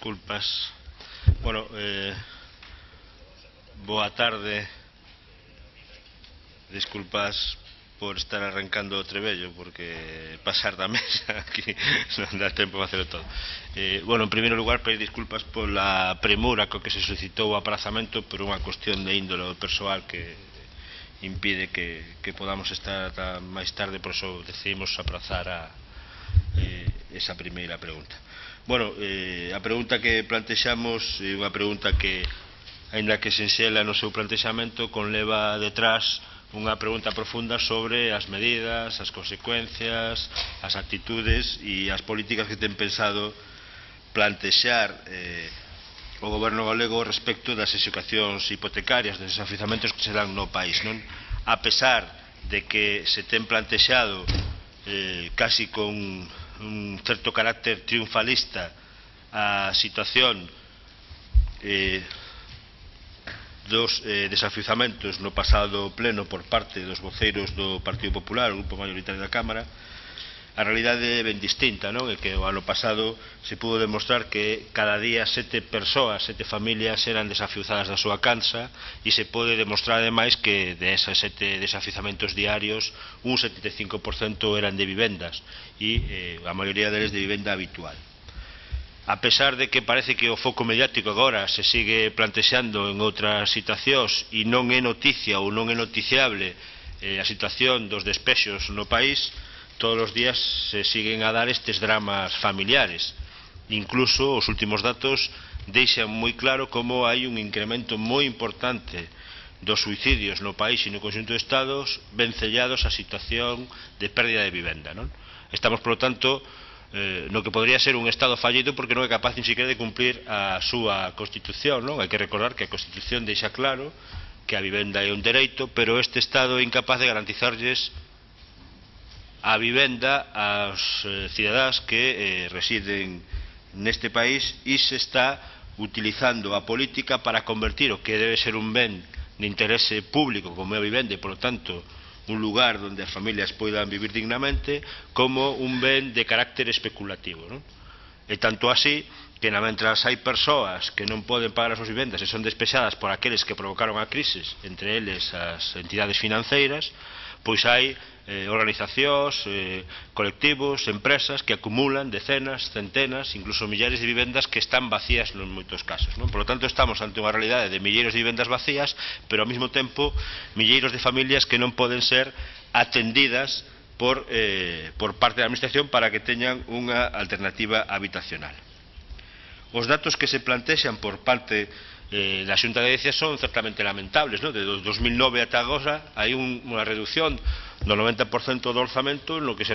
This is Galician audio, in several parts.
disculpas. Bueno, boa tarde. Disculpas por estar arrancando o trebello, porque pasar da mesa aquí non dá tempo a facelo todo. Bueno, en primeiro lugar, pedir disculpas pola premura co que se suscitou o aprazamento por unha cuestión de índole persoal que impide que podamos estar ata máis tarde, por iso decidimos aprazar esa primeira pregunta. Bueno, a pregunta que plantexamos é unha pregunta que, aínda que sinxela no seu plantexamento, conleva detrás unha pregunta profunda sobre as medidas, as consecuencias, as actitudes e as políticas que ten pensado plantexar o goberno galego respecto das execucións hipotecarias, dos desafiuzamentos que se dan no país, non? A pesar de que se ten plantexado casi con un certo carácter triunfalista a situación dos desafiuzamentos no pasado pleno por parte dos voceiros do Partido Popular, o grupo mayoritario da Cámara, a realidade é ben distinta, non? É que o ano pasado se pudo demostrar que cada día 7 persoas, 7 familias eran desafiuzadas da súa cansa, e se pode demostrar ademais que de esas 7 desafiuzamentos diarios un 75% eran de vivendas e a maioría deles de vivenda habitual. A pesar de que parece que o foco mediático agora se sigue plantexando en outras situacións e non é noticia ou non é noticiable a situación dos despexos no país, todos os días se siguen a dar estes dramas familiares. Incluso os últimos datos deixan moi claro como hai un incremento moi importante dos suicidios no país e no conxunto de estados vencellados a situación de pérdida de vivenda, non? Estamos, por lo tanto, no que podría ser un Estado fallido porque non é capaz ni siquiera de cumplir a súa Constitución, non? Hai que recordar que a Constitución deixa claro que a vivenda é un dereito, pero este Estado é incapaz de garantizarlles a vivenda aos cidadáns que residen neste país, e se está utilizando a política para convertir o que debe ser un ben de interese público como é a vivenda e, por lo tanto, un lugar onde as familias poidan vivir dignamente, como un ben de carácter especulativo, non? E tanto así que, mentras hai persoas que non poden pagar as súas vivendas e son despexadas por aqueles que provocaron a crisis, entre eles as entidades financeiras, pois hai organizacións, colectivos, empresas que acumulan decenas, centenas, incluso millares de vivendas que están vacías en moitos casos, non? Por lo tanto, estamos ante unha realidade de milleiros de vivendas vacías, pero ao mesmo tempo milleiros de familias que non poden ser atendidas por parte da administración para que teñan unha alternativa habitacional. Os datos que se plantexan por parte da Xunta de Galicia son certamente lamentables, non? De 2009 ata agora hai unha reducción do 90% do orzamento no que se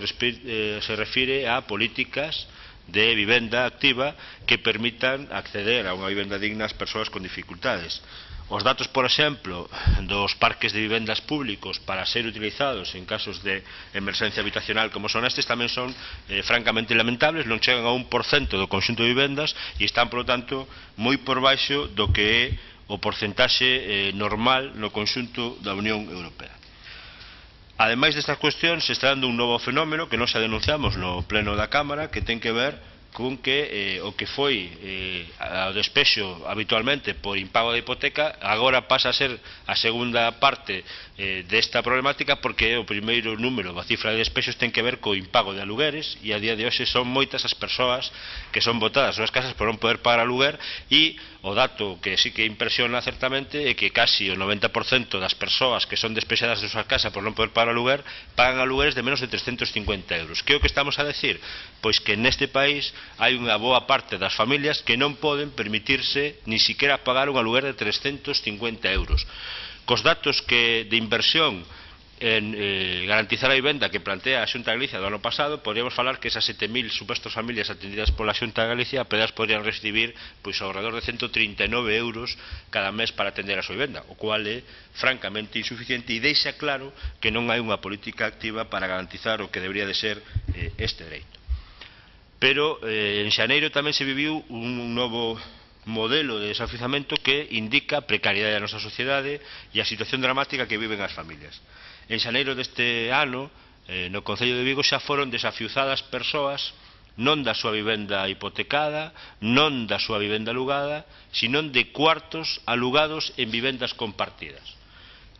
refire a políticas de vivenda activa que permitan acceder a unha vivenda digna ás persoas con dificultades. Os datos, por exemplo, dos parques de vivendas públicos para ser utilizados en casos de emerxencia habitacional como son estes tamén son francamente lamentables, non chegan a 1% do conxunto de vivendas e están, por lo tanto, moi por baixo do que é o porcentaxe normal no conxunto da Unión Europea. Ademais destas cuestións, se está dando un novo fenómeno que nós xa denunciamos no pleno da Cámara, que ten que ver con que o que foi o despexo habitualmente por impago de hipoteca agora pasa a ser a segunda parte desta problemática, porque o primeiro número da cifra de despexos ten que ver co impago de alugueres, e a día de hoxe son moitas as persoas que son botadas nas casas por non poder pagar aluguer, e o dato que sí que impresiona certamente é que casi o 90% das persoas que son despexadas de súa casa por non poder pagar aluguer pagan alugueres de menos de 350 euros. Que é o que estamos a decir? Pois que neste país hai unha boa parte das familias que non poden permitirse ni siquiera pagar un aluguer de 350 euros. Cos datos de inversión en garantizar a vivenda que plantea a Xunta de Galicia do ano pasado, podríamos falar que esas 7.000 supostas familias atendidas pola Xunta de Galicia apenas podrían recibir pois ao redor de 139 euros cada mes para atender a súa vivenda, o cual é francamente insuficiente e deixa claro que non hai unha política activa para garantizar o que debería de ser este dereito. Pero en xaneiro tamén se viviu un novo modelo de desafiuzamento que indica a precariedade da nosa sociedade e a situación dramática que viven as familias. En xaneiro deste ano, no Concello de Vigo xa foron desafiuzadas persoas non da súa vivenda hipotecada, non da súa vivenda alugada, sino de cuartos alugados en vivendas compartidas.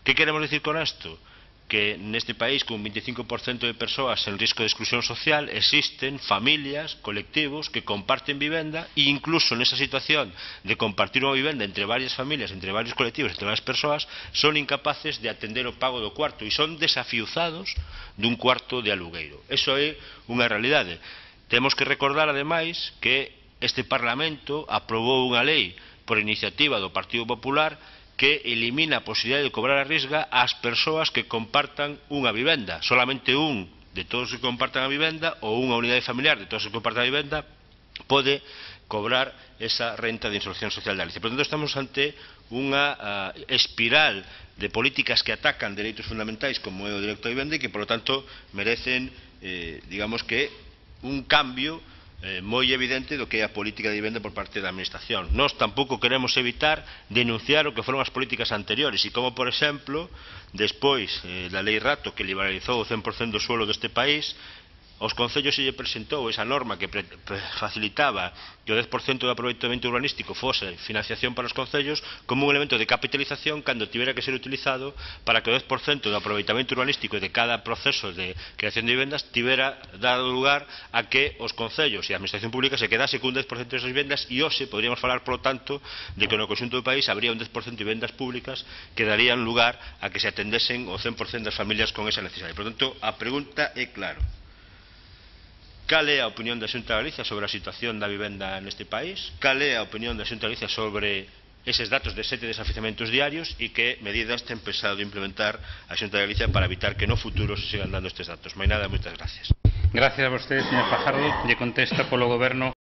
Que queremos dicir con isto? Que neste país, con un 25% de persoas en risco de exclusión social, existen familias, colectivos que comparten vivenda e incluso nesa situación de compartir unha vivenda entre varias familias, entre varios colectivos, entre varias persoas, son incapaces de atender o pago do cuarto e son desafiuzados dun cuarto de alugueiro. Eso é unha realidade. Temos que recordar, ademais, que este Parlamento aprobou unha lei por iniciativa do Partido Popular que elimina a posibilidade de cobrar a risga ás persoas que compartan unha vivenda. Solamente un de todos os que compartan a vivenda ou unha unidade familiar de todos os que compartan a vivenda pode cobrar esa renta de inserción social da lei. Por tanto, estamos ante unha espiral de políticas que atacan dereitos fundamentais como é o dereito á vivenda e que, por lo tanto, merecen, digamos que, un cambio moi evidente do que é a política de vivenda por parte da Administración. Nós tampouco queremos evitar denunciar o que foron as políticas anteriores e como, por exemplo, despois da Lei Rato que liberalizou o 100% do suelo deste país, aos concellos se lle presentou esa norma que facilitaba que o 10% do aproveitamento urbanístico fose financiación para os concellos como un elemento de capitalización cando tivera que ser utilizado para que o 10% do aproveitamento urbanístico de cada proceso de creación de vivendas tivera dado lugar a que os concellos e a administración pública se quedase cun 10% desas vivendas e hoxe poderíamos falar, polo tanto, de que no conxunto do país habría un 10% de vivendas públicas que darían lugar a que se atendesen o 100% das familias con esa necesidade. Por tanto, a pregunta é claro. Cal é a opinión da Xunta de Galicia sobre a situación da vivenda neste país? Cal é a opinión da Xunta de Galicia sobre eses datos de 7 desafiuzamentos diarios e que medidas ten pensado implementar a Xunta de Galicia para evitar que no futuro se sigan dando estes datos? Máis nada, moitas gracias. Gracias a vostede, señor Fajardo. Lle contesta polo Goberno